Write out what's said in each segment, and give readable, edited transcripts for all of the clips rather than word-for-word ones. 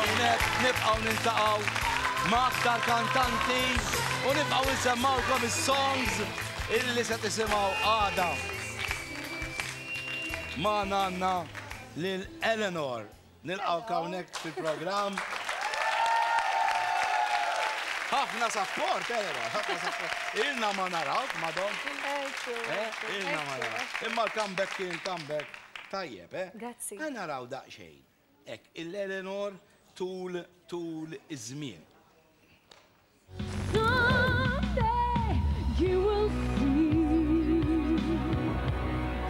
hawnhekk, nibqgħu niltaqgħu ma' aktar kantanti u nibqgħu nsemmgħukom is-songs illi se tisimgħu għada. Magħna għandna lil Eleanor. Nilqgħuk hawnhekk fil-programm. Ħafna sapport, Eleanor, ħafna sapport. Ilna ma narawk, madon. Eh, ilna ma narawk. Imma l-comeback kien comeback tajjeb, eh? Grazzi. Ħa naraw daqsxejn. Hekk, il-Eleanor tul tul iż-żmien. Someday you will see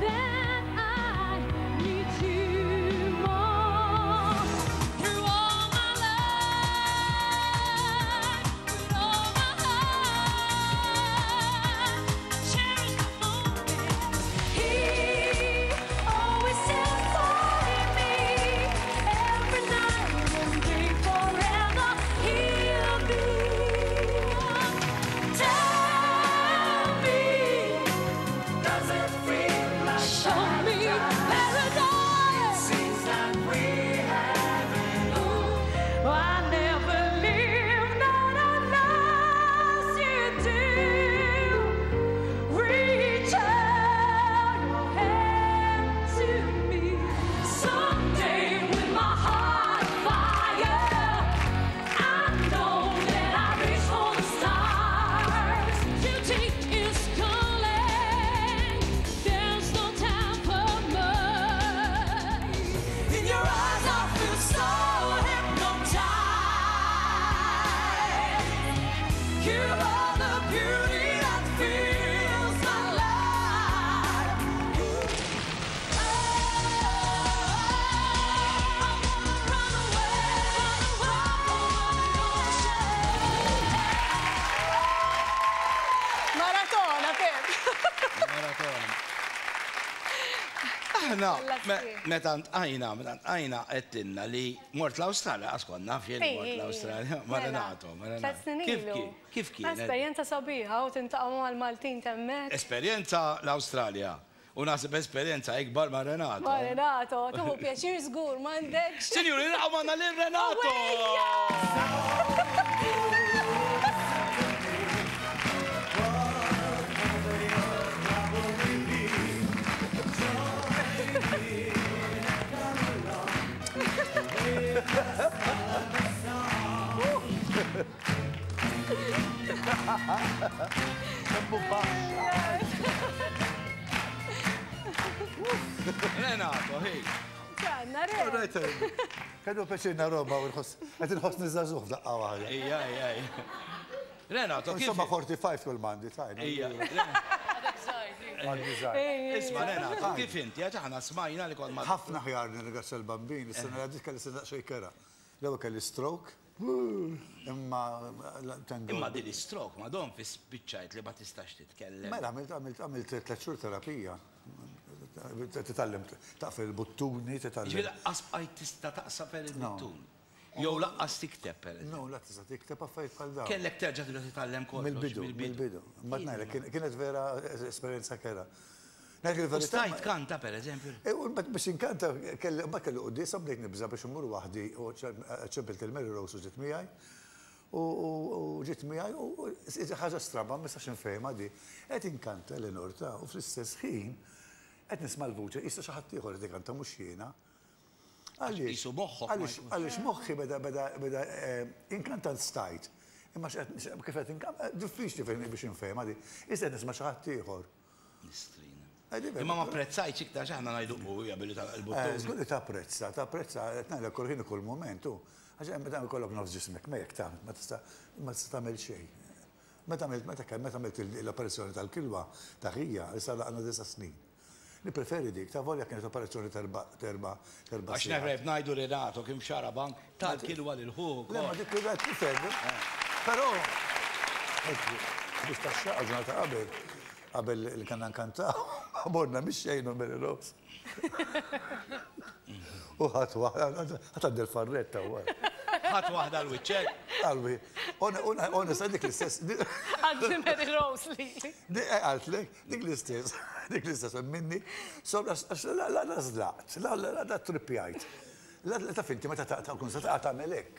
that I need you more. Through all my life, with all my heart, cherish the moment. He always stands by me every night and day forever. He'll be. Tell me, does it feel like Show me paradise? Seems like we have it all. I never live not unless you do. Reach out your hand to me. Someday with my heart fire, I know that I reach for the stars. Beauty is calling. There's no time for much. In your eyes, I feel so hypnotized. You are the beauty that fills my life. I wanna run away, run away. Maratona, Pep. Maratona. Aħna, meta ntqajna, meta ntqajna għedtilna li mort l-Awstralja, għax kont naf jien li mort l-Awstralja, ma' Renato, ma' Renato. Kif kien? Kif kien? Esperjenza sabiħa u tintaqa' mal-Maltin t'hemmhekk. Esperjenza l-Awstralja u naħseb esperjenza ikbar ma' Renato. Ma' Renato, tieħu pjaċir żgur, m'għandekx. Sinjuri, nilqgħu magħna lil Renato! Renato, hey. Ġanna, re. Kellu pjaċir Roma u nħoss, qed inħossni żagħżugħ f'daqqa waħda. Ija, ija, ija. Renato, kif? Insomma 45 kull mandi tajna. Ija. Għandi żgħir. Isma' Renato, kif inti? Għax aħna smajna li kont ma' Ħafna ħjar nirringrazzja l-Bambin, is-sena li għaddiet kelli sena daqsxejn kerha. L-ewwel kelli stroke, imma thank God. Imma din is-stroke madon fi spiċċajt li ma tistax titkellem. Mela għamilt għamilt għamilt tliet xhur terapija. Titgħallem taqfel il-buttuni, titgħallem. Ġifieri laqqas bqajt tista' taqsafel il-buttun. Jew laqqas tikteb pereżempju. No, la tista' tikteb affarijiet bħal dawn. Kellek terġa' tibda titgħallem kollox mill-bidu. Mill-bidu. Ma ngħidlek kienet vera esperjenza kerha. Ngħidlek il-verità. U stajt tkanta pereżempju? E, u mbagħad biex inkanta kelli mbagħad kelli quddiesa bdejt nibża' biex immur waħdi u ċempilt il Mary Rose u ġiet miegħi. U ġiet miegħi u ħaġa stramba ma nistax infehimha di. Qed inkanta Eleanor ta' u fl-istess ħin qed nisma' l-vuċi qisha xi ħadd ieħor qed ikanta mhux jiena. Għaliex? Qisu moħħok ma Għaliex għaliex moħħi beda beda beda inkantant stajt. Imma x'qed kif qed inkanta diffiċli biex infehimha di. Issa qed nisma' xi ħadd ieħor. Mistrina. Imma ma apprezzajtx iktar għax aħna ngħidu u hija billi tagħlaq il-buttun. Żgur li tapprezza, tapprezza qed ngħidlek kull ħin u kull mument u għax meta jkollok nofs ġismek mejjek ta' ma tista' ma tista' tagħmel xejn. Meta għamilt meta kemm meta għamilt l-operazzjoni tal-kilwa ta' ħija, issa għalaqna disa' snin. Nippreferi dik, ta' volja kienet operazzjoni t'erba' t'erba' t'erba' Għax sigħat. neħreb ngħidu Renato kien f'xarabank ta l-kilwa lil ħuh ukoll. Le ma dik qed nifhem, però biex tax-xagħar ġurnata qabel, qabel li kellna nkantaw, morna mix-xejn u Mary Rose. U ħadt waħda, ħadt għand il-farretta wara. Ħadt waħda għal wiċċek? Għal wi-, onesta dik l-istess. Għand Mary Rose lili. Qaltlek, dik l-istess, dik l-istess minni, għax la la żlaqt, la la trippjajt. La taf inti meta taqta' kun se taqa' tagħmel hekk.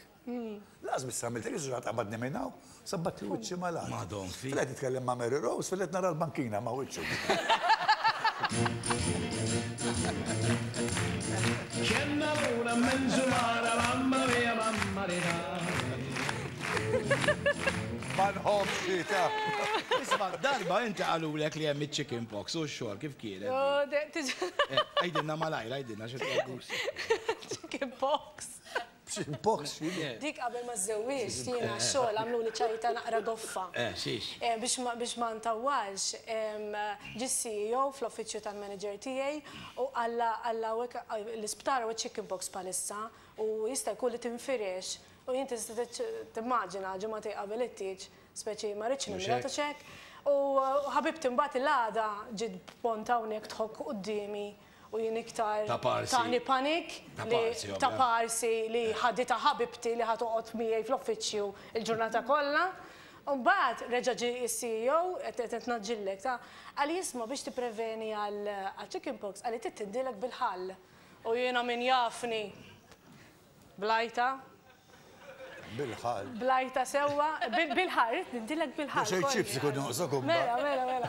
Lanqas biss għamilt hekk, ġrat qabadni minn hawn, sabbatli wiċċi mal-art. Madon fi. Fil-qed nitkellem ma' Mary Rose, fil-qed nara l-bankina ma' wiċċu. Ma nħobbx hi ta'. Isma' darba inti qalulek li hemm iċ-chicken pox u x-xogħol kif kienet? Għidilna malajr, għidilna xi tgħidux. Chicken pox. Chicken pox x'inhi? Dik qabel ma żżewwiġt jiena x-xogħol għamluli ċajta naqra goffa. Xiex? Biex ma ntawwalx, ġie s-CEO fl-uffiċċju tal-manager tiegħi u qallha qallha l-isptar hawn iċ-chicken pox bħalissa u jista' jkun li tinfirex U jien tista' timmaġina ġimagħtejn qabel it-tieġ, speċi ma rridx nimrad u x'hekk. U ħabibti mbagħad il-għada ġiet b'pont hawnhekk tħokk quddiemi u jien iktar tani panik li ta' parsi li ħaditha ħabibti li ħa toqgħod miegħi fl-uffiċċju l-ġurnata kollha. U mbagħad reġa' ġie s-CEO, qed ngħaġġillek, ta' qalli isma' biex tippreveni għal chickenpox qalli trid tindilek bil-ħall. U jiena min jafni Blajta. Bil-ħall. Blajta sewwa, bil-ħall, ridt nindilek bil-ħall. Xejn ċips ikun joqsok Mela, mela, mela.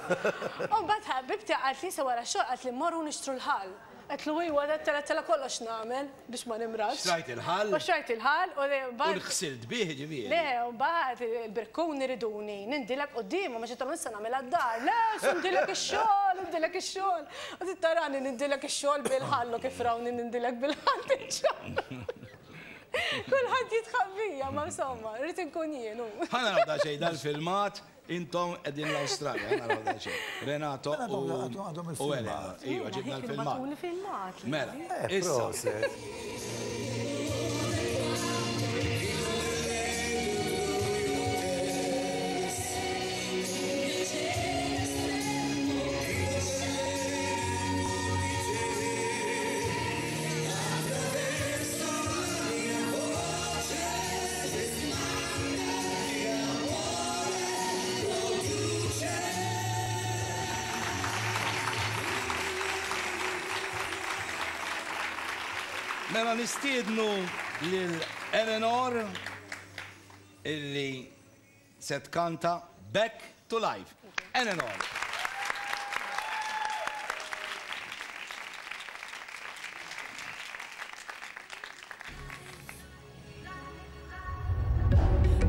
U mbagħad ħabibti qaltli sa wara x-xogħol qaltli mmorru nixtru l-ħall. Għedtlu iwa, għedtela kollox nagħmel biex ma nimradx. Xtrajt il-ħall? U xtrajt il-ħall u mbagħad. U ħsilt bih ġifieri. Le, u mbagħad il-brikkuni riduni nindilek quddiemhom għax għedtilhom issa nagħmilha d-dar. Le, x'indilek ix-xogħol, indilek ix-xogħol. U trid tarani nindilek ix-xogħol bil-ħall u kif rawni nindilek bil-ħall diġà. Kulħadd jidħaq bija, ma insomma, rrid inkun jien hu. Ħa naraw daqsxejn dal-filmat, intom qegħdin l-Awstralja, ħa naraw daqsxejn. Renato u Elena. Iva, ġibna l-filmat. Mela, issa. Mela nistiednu lil Eleanor illi se tkanta Back to Life. Eleanor.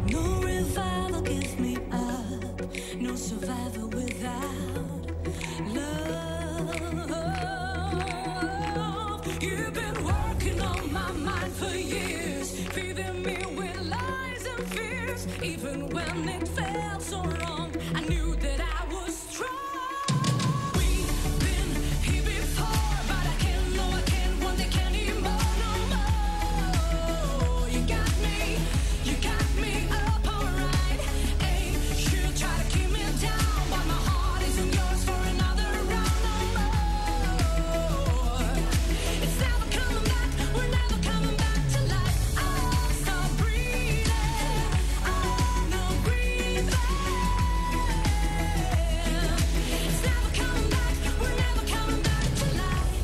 No revival give me up, no survivor without love. You've been working on my mind for years, feeding me with lies and fears. Even when it felt so wrong, I knew that I was strong. We've been here before, but I can't, no, I can't want it anymore, no more. You got me, you got me up alright. Ain't you try to keep me down, but my heart isn't yours for another round, no more. It's never coming back, we're never coming back to life. I'll stop breathing, I'm no breathing. It's never coming back, we're never coming back to life.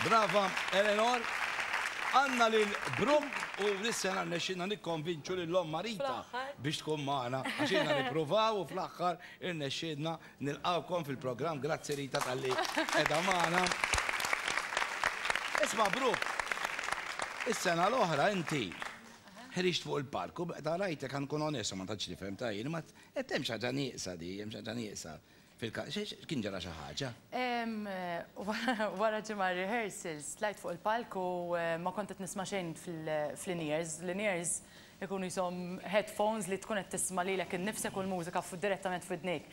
Brava, Eleanor. Għandna lil Brooke u l-sena rnexxilna nikkonvinċu lil omm Marita biex tkun magħna għax ilna nippruvaw u fl-aħħar irnexxielna nilqgħukom fil-programm. Grazzi Rita talli qiegħda magħna. Isma' Brooke, is-sena l-oħra inti ħriġt fuq il-palk u meta rajtek ħa nkun onest ma tantx nifhem ta' jien, ma qed hemm xi ħaġa nieqsa di, hemm xi ħaġa nieqsa. Fil-każ, kien ġara xi ħaġa? Wara ġimgħa rehearsals, tlajt fuq il-palk u ma kont qed nisma' xejn fl-in-ears. L-in-ears ikunu jisom headphones li tkun qed tisma' lilek innifsek u l-mużika direttament f'widnejk.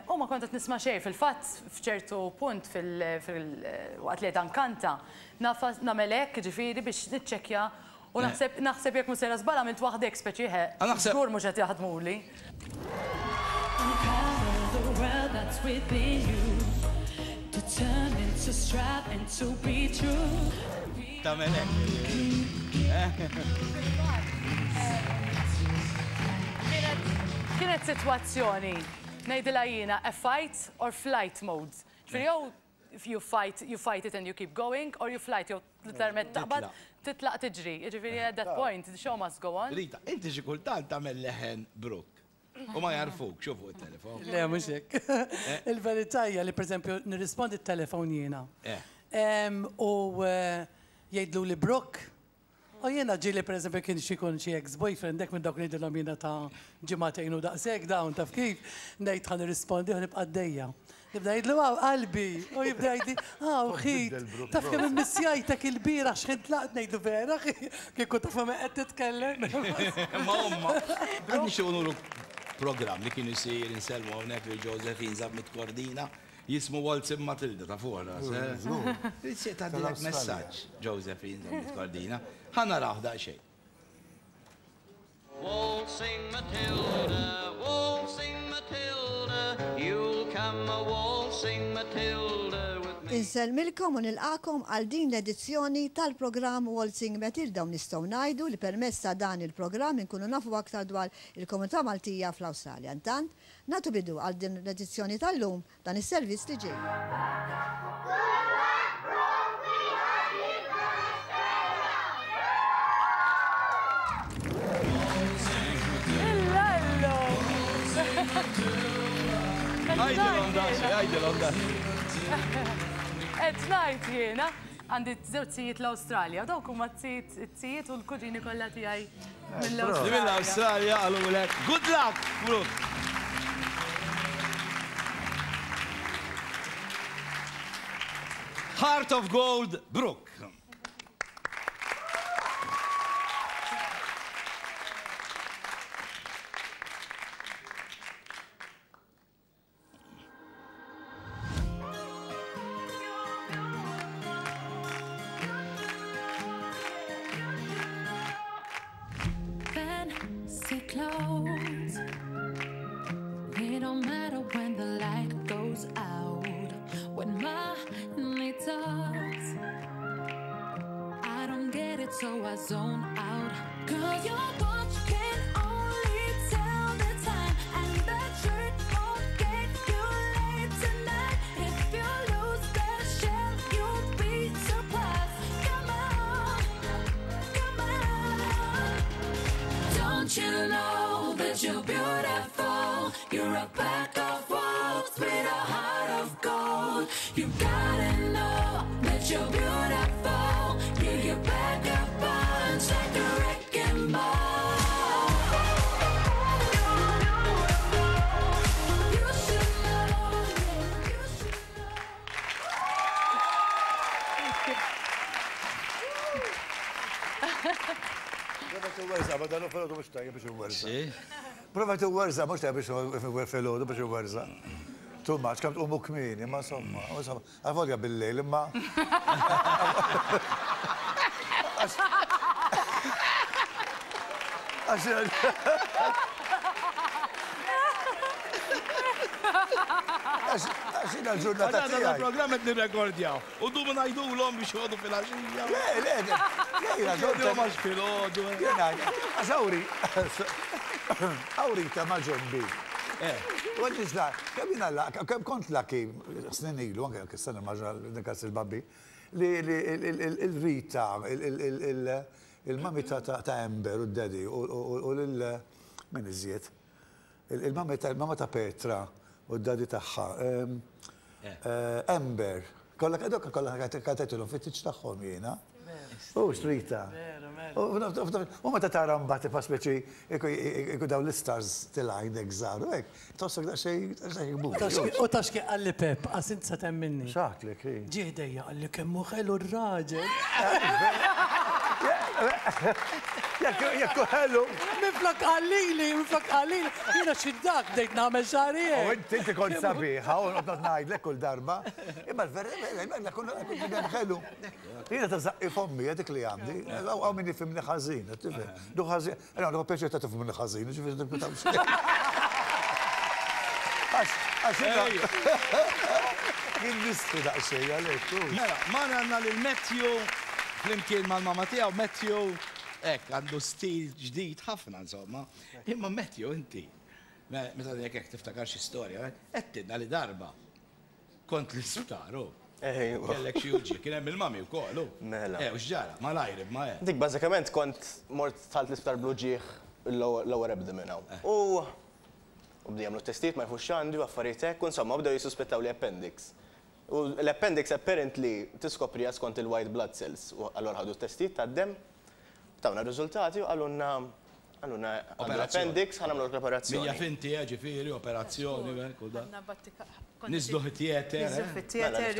U ma kont qed nisma' xejn. Fil-fatt, f'ċertu punt waqt li qed nkanta, nagħmel hekk, jiġifieri biex niċċekkja U naħseb, naħseb jekk mhux sejra żball għamilt waħda hekk speċi ħe, żgur mhux qed jaħdmuli. Tagħmel hekk. Kienet, kienet sitwazzjoni, ngħidilha jiena, a fight or flight mode. Ġifieri jew you fight, you fight it and you keep going, or you flight, jew literalment taqbad, titlaq tiġri. Jiġifieri at that point, the show must go on. Rita, inti xi kultant tagħmel leħen Brooke u ma jagħrfuk, xu fuq it-telefon. Le, mhux hekk. Il-verità hija li pereżempju nirrispondi t-telefon jiena. U jgħidlu li Brooke, u jiena ġieli pereżempju kien xi jkun xi ex-boyfriend hekk minn dawk li ngħidilhom jiena ta' ġimagħtejn u daqshekk dawn taf kif, ngħid ħa nirrispondi u nibqa' għaddejja. Nibda ngħidlu hawn qalbi u jibda jgħidli hawn ħit, taf kemm immissjajtek ilbieraħ x'ħin tlaqt ngħidlu vera kieku taf ma' min qed titkellem. Ma omma, għad nixtiequ nuru programm li kien isir insellmu hawnhekk lil Josephine Zammit Cordina jismu Waltzing Matilda ta' fuq ras. Tixtieq tgħaddilek messaġġ Josephine Zammit Cordina. Ħa narawh daqsxejn. Waltzing Matilda, waltzing Matilda, you'll come a waltzing Matilda with me. Insellmilkom u nilqagħkom għal din l-edizzjoni tal-programm Waltzing Matilda u nistgħu ngħidu li permezz ta' dan il-programm inkunu nafu aktar dwar il-komunità Maltija fl-Awstralja. Intant, nagħtu bidu għal din l-edizzjoni tal-lum dan is-servizz li ġej. Illallu! Għidilhom daqsxejn, għidilhom daqsxejn. Qed ngħid jiena, għandi żewġ zijiet l-Awstralja, u dawk huma t-zijiet u l-kuġini kollha tiegħi mill-Awstralja. Mill-Awstralja qalulek good luck, Brooke. Heart of Gold, Brooke. Fancy clothes. They don't matter when the light goes out. When money talks, I don't get it, so I zone out. 'Cause your watch can only tell the time, and the shirt won't get you late tonight. If you lose the shell, you'll be surprised. Come on, come on. Don't you know that you're beautiful? You're a pack of wolves with a heart of gold. You gotta know that you're beautiful. Yeah, you pack a punch like a wrecking ball. You should know, you should know. Prova t-werza, ma dan filgħodu mhux tajjeb biex iwerza. Prova t-werza, mhux tajjeb biex filgħodu biex iwerza. Too much, kemm tqumu kmieni, ma insomma, insomma, avolja bil-lejl, imma. Għax. Għax jiena l-ġurnata Għadha tiegħi. programm qed nirrekordjaw. U dumu ngħidulhom biex joqogħdu fil-għaxija. Le, le, le, jiena Jgħidulhom għax filgħodu. Jiena, għax awri, awri ta' ma' ġembi. U għadġi ġla, kemm jiena la, kemm kont lucky snin ilu, anke anke s-sena ma ġra il-babbi, li il-Rita, il-mami ta' Amber u d-daddy u lil min iżjed, il-mami ta' il-mama ta' Petra u d-daddy tagħha, Amber, kollha dawk kollha kantajtilhom fit-tieġ tagħhom jiena. U xtrita. U meta tara mbagħad tibqa' speċi iku dawn l-istars tilgħin hekk żgħar u hekk, tħossok daqsxejn daqsxejn kbur. U taf x'kien qalli Pep, qas int se temminni. X'għadlek hi? Ġie ħdejja qalli kemm hu ħelu r-raġel. Jekk jekk hu ħelu. Minflok qallili, minflok qallili, jiena xi dak bdejt nagħmel xagħri U hekk. inti inti kont sabiħa u noqgħod ngħidlek kull darba. Imma l-vera kemm ħelu. Jiena ta' żaqqi fommi, dik li għandi. Hawn min jifhimni ħażin, tifhem. Du ħażin, jiena għandu pjaċir ta' tifhimni ħażin, ġifieri ninkwitaw xejn. Għax għax jiena jien nistħi daqsxejn għalhekk. Mela, magħna għandna lil Matthew flimkien mal-mama tiegħu, Matthew hekk għandu stil ġdid ħafna insomma. Imma Matthew inti, meta ngħidlek hekk tiftakar xi storja, għedtilna li darba. Kont l-isptar, u. Ejwa. Kellek xi uġigħ, kien hemm il-mami wkoll, u. Mela. Eh, u x'ġara? Malajr imma, eh. Dik bażikament kont mort dħalt l-isptar bl-uġigħ il-lower abdomen hawn. U u bdew jagħmlu t-testijiet ma jafux x'għandi u affarijiet hekk u insomma bdew jissuspettaw li appendix. U l-appendix apparently tiskopriha skont il-white blood cells u allura ħadu t-testijiet tad-demm, tawna r-riżultati u qalulna Qalulna għandu l-appendix, ħa nagħmlulek l-operazzjoni. Mija finti, eh, ġifieri, operazzjoni, u da. Niżlu fit-theater. Niżlu fit-theater,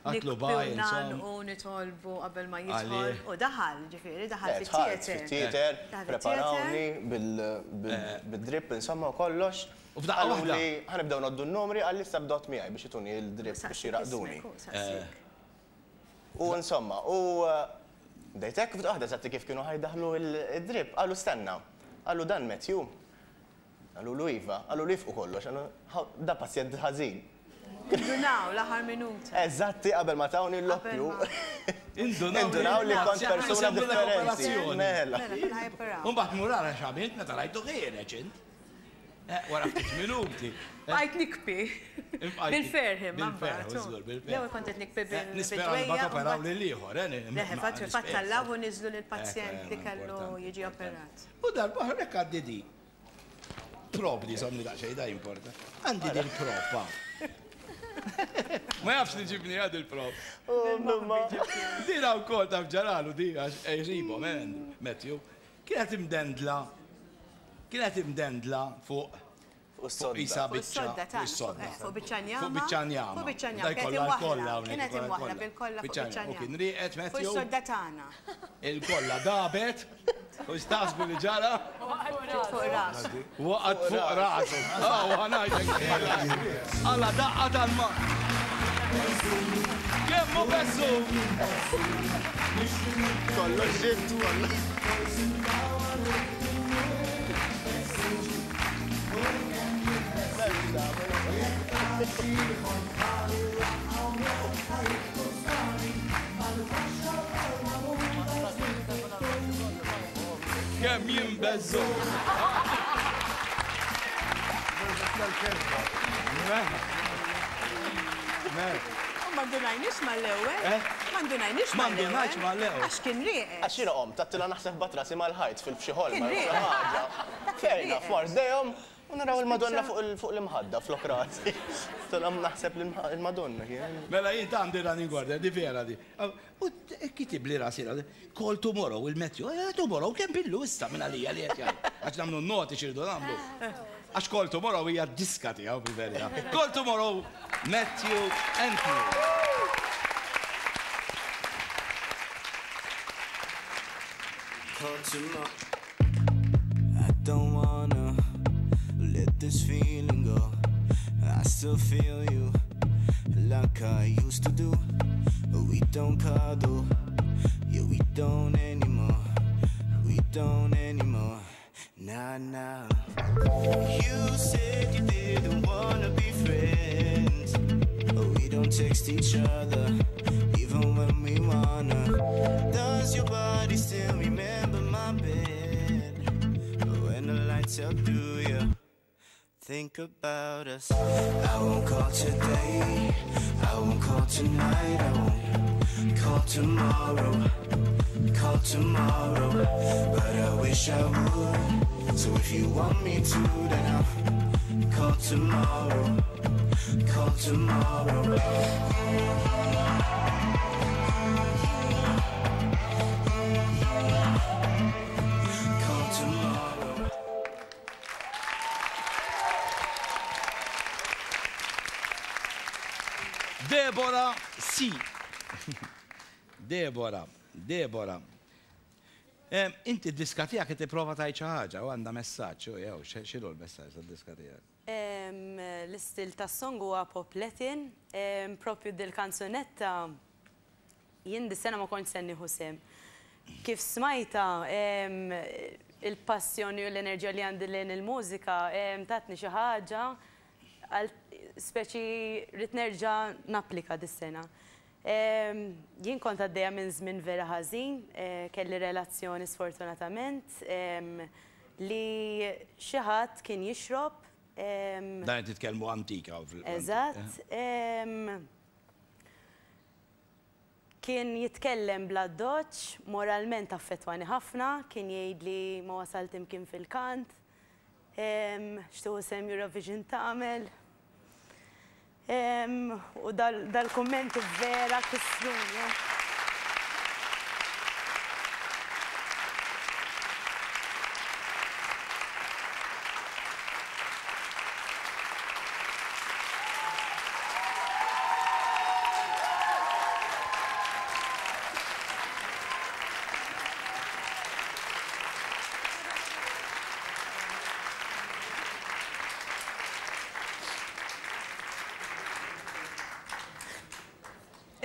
Għatlu baj, insomma. U nitolbu qabel ma jidħol. U daħal, ġifieri, daħal fit-theater. Fit-theater, preparawni bil-drip, insomma, u kollox. U f'daqqa waħda. Qaluli, ħa nibdew ngħoddu n-numri, qalli issa bdot miegħi biex ituni l-drip biex jraqqduni. U insomma, u bdejt hekk, f'daqqa waħda eżatti kif kienu ħa jdaħħlu d-drip, qalu stenna. Qalu dan Matthew? Qalulu iva. Qalulu ifqu kollox, qalu da pazjent ħażin. Indunaw l-aħħar minuta. Eżatti qabel ma tawni l-loppju. Indunaw li kont persuna differenti. Mela. U mbagħad mur ara x'għamilt meta rajtu ħiereġ int. Eh, wara ftit minuti. Eh. Bqajt nikbi. Bil-ferħ imma. Bil-ferħ, żgur, bil-ferħ. L-ewwel kont qed nikbi bil-dwejja. Nispera li mbagħad operaw lil ieħor, eh. Le, fatt fatt tallaw u niżlu lill-pazjent li kellu jiġi operat. U darba oħra hekk għaddi di. Prop di somni daqsxejn da importa. Għandi din propa. Ma jafx li ġibni għad il-prop. Dina wkoll taf ġaralu di għax ejribhom, eh, Matthew. Kienet imdendla Kienet imdendla fuq Fuq is-sodda. Isa Fuq is-sodda biċċa. Fuq is-sodda. Fuq biċċa njama. Fuq biċċa njama. Fuq biċċa njama. Da jkollha l-kolla hawnhekk. Kienet imwaħħla bil-kolla fuq biċċa njama. U kien rieqed Fuq Matthew. is-sodda tagħna. Il-kolla dabet. U x'taħsbu li ġara? Waqgħet fuq rasu. Waqgħet fuq rasu. Ah, u ħa ngħidlek. Alla daqqa tal-ma. Kemm hu beżżu! Kollox ġibt, kollox. Kemm jinbeżżu! U ma ndunajniex mal-ewwel. Eh? Ma ndunajniex Ma ndunajtx mal-ewwel. Għax kien rieqed. Għax jiena qomt, għedtilha naħseb bat rasi mal-ħajt fil-f'xi ħolma Kien jew xi rieqed. ħaġa. Dak kien Fair enough, rieqed. mort ħdejhom u naraw il-Madonna fuq il- fuq l-imħadda flok rasi. Għedtilhom naħseb li l-Madonna kien. Mela jien ta' għandi running order, di vera di. U kitibli rasi, call tomorrow, il-Matthew, eh, tomorrow, kemm billu issa minn għalija li qed jgħid. Għax nagħmlu noti xirdu nagħmlu. Għax call tomorrow hija d-diska tiegħu fil-verità. Call tomorrow, Matthew Anthony. Call tomorrow. I don't wanna let this feeling go. I still feel you like I used to do. But we don't cuddle, yeah, we don't anymore. We don't anymore. Nah, nah. You said you didn't wanna be friends. But we don't text each other, even when we wanna. Does your body still remember my bed? When the lights out, do you think about us? I won't call today, I won't call tonight, I won't call tomorrow, call tomorrow. But I wish I would. So if you want me to, then I'll call tomorrow, call tomorrow. Call tomorrow. Deborah C. Deborah, Deborah. Inti d-diska tiegħek qed tipprova tgħid xi ħaġa u għandha messaġġ, u jew x'inhu l-messaġġ tad-diska tiegħek? L-istil tas-song huwa pop Latin, propju dil-kanzunetta jien dis-sena ma kontx se nieħu sehem. Kif smajtha, il-passjoni u l-enerġija li għandi lejn il-mużika tatni xi ħaġa speċi rrid nerġa' napplika dis-sena. Jien kont għaddejja minn żmien vera ħażin, kelli relazzjoni sfortunatament li xi ħadd kien jixrob. Dan qed nitkellmu antika. Eżatt. Kien jitkellem bl-addoċċ, moralment affettwani ħafna, kien jgħidli ma wasalt imkien fil-kant, x'tieħu sehem Eurovision tagħmel. U dal-kummenti vera kissruni.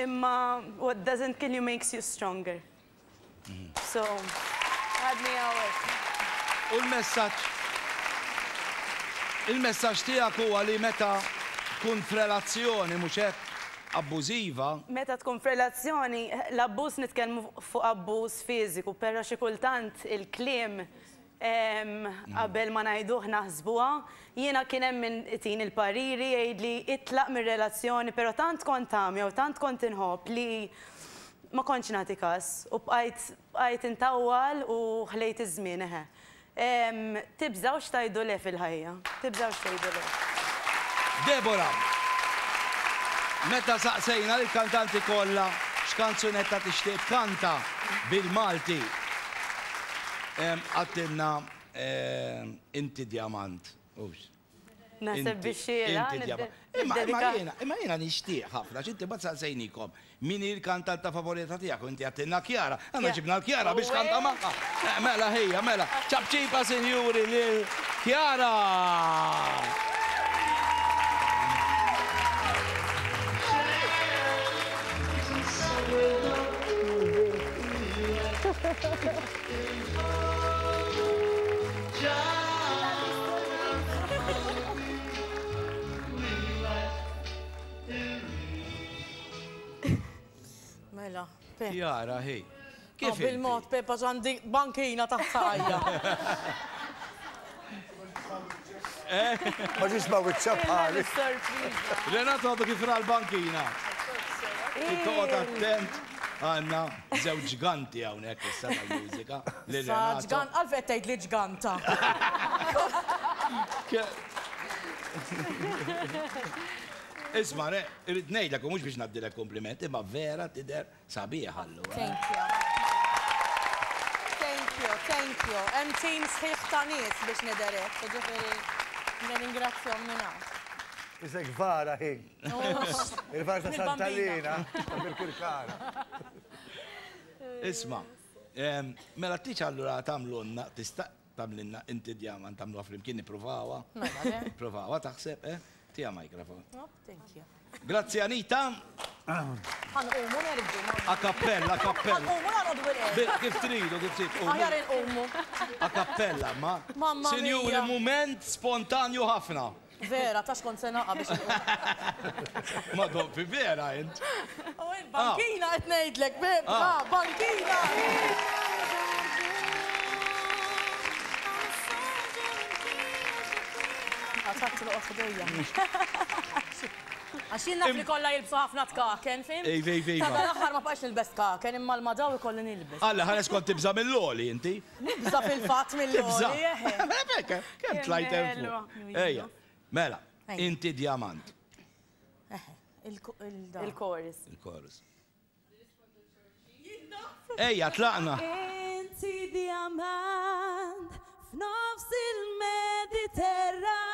Imma what doesn't kill you makes you stronger. So, għadni hawnhekk. U l-messaġġ Il-messaġġ tiegħek huwa li meta tkun f'relazzjoni mhux hekk abbużiva. Meta tkun f'relazzjoni, l-abbuż nitkellmu fuq abbuż fiżiku, però xi kultant il-kliem qabel ma ngħiduh naħsbuha. Jiena kien hemm min itini l-pariri jgħidli itlaq mir-relazzjoni, però tant kont għamja u tant kont inħobb li ma kontx nagħti każ u bqajt bqajt intawwal u ħlejt iż-żmien eħe. Tibżgħux tgħidu le fil-ħajja. Tibżgħux tgħidu le. Deborah, meta saqsejna lill-kantanti kollha x'kanzunetta tixtieq tkanta bil-Malti, għedtilna Inti Djamant, hux? Naħseb biex xieraq. Inti djamant. Imma imma jiena, imma jiena nixtieq ħafna, għax inti mbagħad saqsejnikom min hi l-kantanta favorita tiegħek u inti għedtilna Chiara. Aħna ġibna l-Chiara biex tkanta magħha. Mela ħija, mela. Ċapċipa sinjuri lil Chiara! Mela, Pep. Jara, hi. Kif oh, Bil-mod, Pep, għax għandi bankina taħt saqajja. Eh? Ma ġiex ma wiċċa bħali. Renato għadu kif ra l-bankina. Toqgħod attent. Għandna żewġ ġganti hawnhekk issa tal-mużika. Lil Sa Renato. ġgant, għalfejn qed tgħid li ġganta. Isma' re, irrid ngħidlek u mhux biex ngħaddilek kompliment, imma vera tidher sabiħa allura. Thank you. Thank you, thank you. Hemm team sħiħ ta' nies biex nidher hekk, jiġifieri nirringrazzjahom minn hawn. Isek vara hi. Il-vara ta' Santa Lina, ta' Birkirkara. Isma, mela tiċ allura tagħmlulna, tista' tagħmlilna inti djaman tagħmluha flimkien nippruvawha. Mela, le. Provawha taħseb, eh? Tija microphone. Oh, thank you. Grazzi Anita. Ħanqumu nerġu. A cappella, a cappella. Ħanqumu nagħqdu bil-qiegħda. Kif tridu, kif tridu. Aħjar inqumu. A cappella, ma. Mamma mia. Sinjuri, mument spontanju ħafna. Vera, tax kont se naqa' biex inqum. Ma doppi vera int. U il-bankina qed ngħidlek, beb, ah, bankina! Għatat l-oqgħod ħdejja. Għax jien naf li kollha jilbsu ħafna tkaken, fim? Ej, ej, ej. Ta' l-aħħar ma bqajx nilbes tkaken, imma l-madaw ikolli nilbes. Alla, ħares kont tibża' mill-għoli inti. Nibża' fil-fatt mill-għoli, eħe. Rebecca, kemm tlajt hemm fuq. Ejja, mela, inti djamant. Eħe, il-chorus. Il-chorus. Ejja, tlaqna. Inti djamant f'nofs il-Mediterran.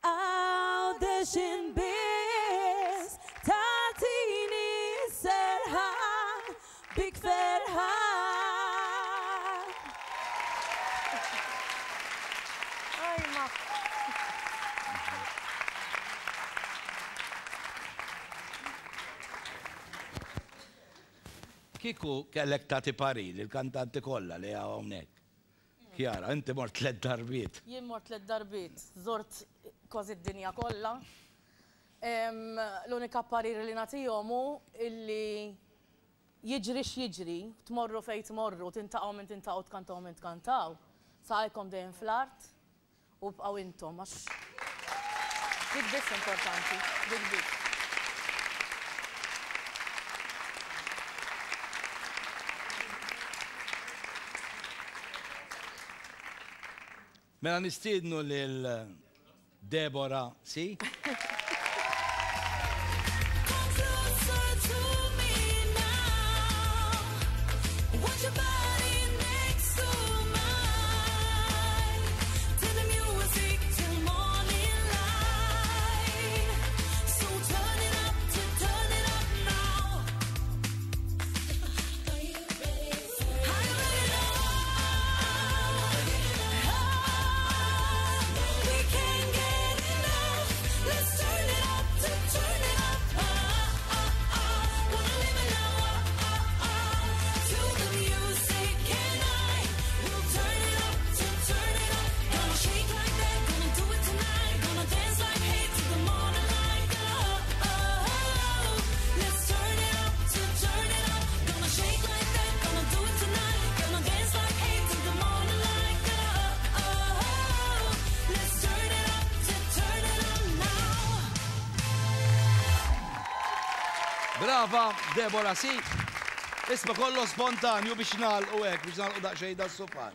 Għawdex inbiss tagħtini s-serħan bik ferħan. Ajma. Kieku kellek tagħti parir lill-kantanti kollha li hawn hawnhekk. Chiara, inti mort tlett darbiet. Jien mort tlett darbiet, żort kważi d-dinja kollha. L-unika parir li nagħtihom hu illi jiġri x'jiġri, tmorru fejn tmorru, tintaqgħu min tintaqgħu, tkantaw min tkantaw, saqajkom dejjem fl-art. U bqgħu intom għax dik biss importanti, dik biss. Mela nistiednu lil Deborah Si. Brava, Deborah, si. Isma kollu spontanju biex nagħlqu hekk, biex nagħlqu daqsxejn das-sufan.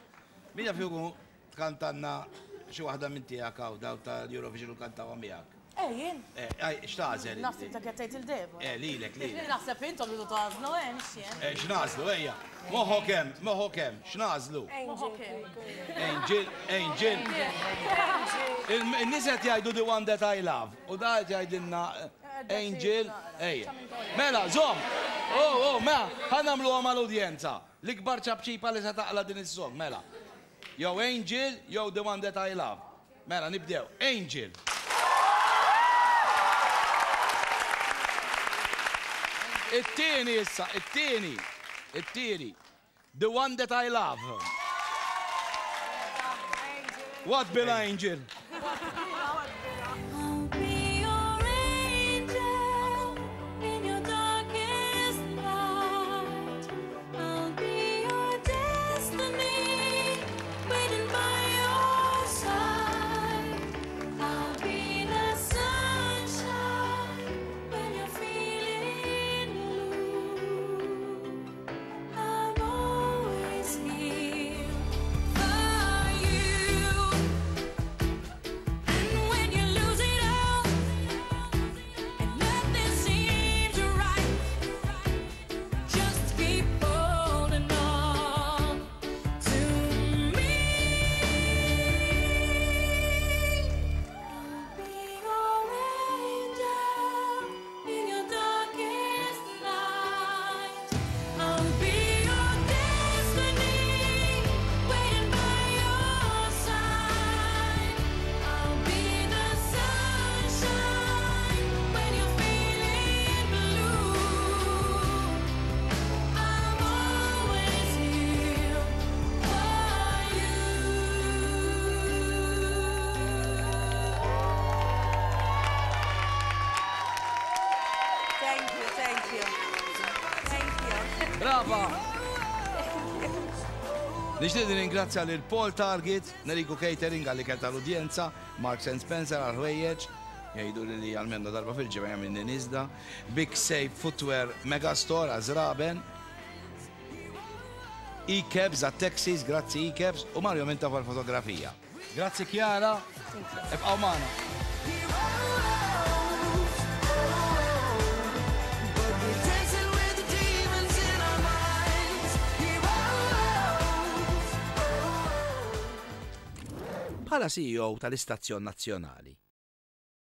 Min jaf jkun tkantanna xi waħda minn tiegħek hawn daw tal-Eurovision u kantawha miegħek. Eh, jien. Eh, aj, x'tagħżel? Naħseb ta' qed tgħid il-Deborah. Eh, lilek, lilek. Naħseb intom li tagħżlu, eh, mhux jien. Eh, x'nagħżlu, ejja. Moħħok hemm, moħħok hemm, x'nagħżlu? Angel, Angel. Il-nies qed jgħidu the one that I love. U da qed jgħidilna eh, Angel, ejja. Mela, żomm! Oh, oh, mela, ħa nagħmluha mal-udjenza. L-ikbar ċapċipa li se taqla' din is-song, mela. Jew Angel, jew the one that I love. Mela, nibdew. Angel. It-tieni issa, it-tieni, it-tieni. The one that I love. What Bill Angel? Just keep holding on to me. I'll be your angel in your darkest night. I'll be your destiny, waiting by your side. I'll be the sunshine when you're feeling blue. I'm always here for you. Thank you, thank you. Thank you. Brava! Nixtieq nirringrazzja lil Paul Target, Neriku Catering għall-ikel tal-udjenza, Marks and Spencer għall-ħwejjeġ, jgħidu li li għalmennu darba fil-ġimgħa jagħmilni niżda, Big Safe Footwear Megastore għaż-żraben, E-Cabs għat-taxis, grazzi E-Cabs, u Mario Mintoff għall-fotografija. Grazzi Chiara, ibqgħu magħna. Bħala CEO tal-istazzjon nazzjonali.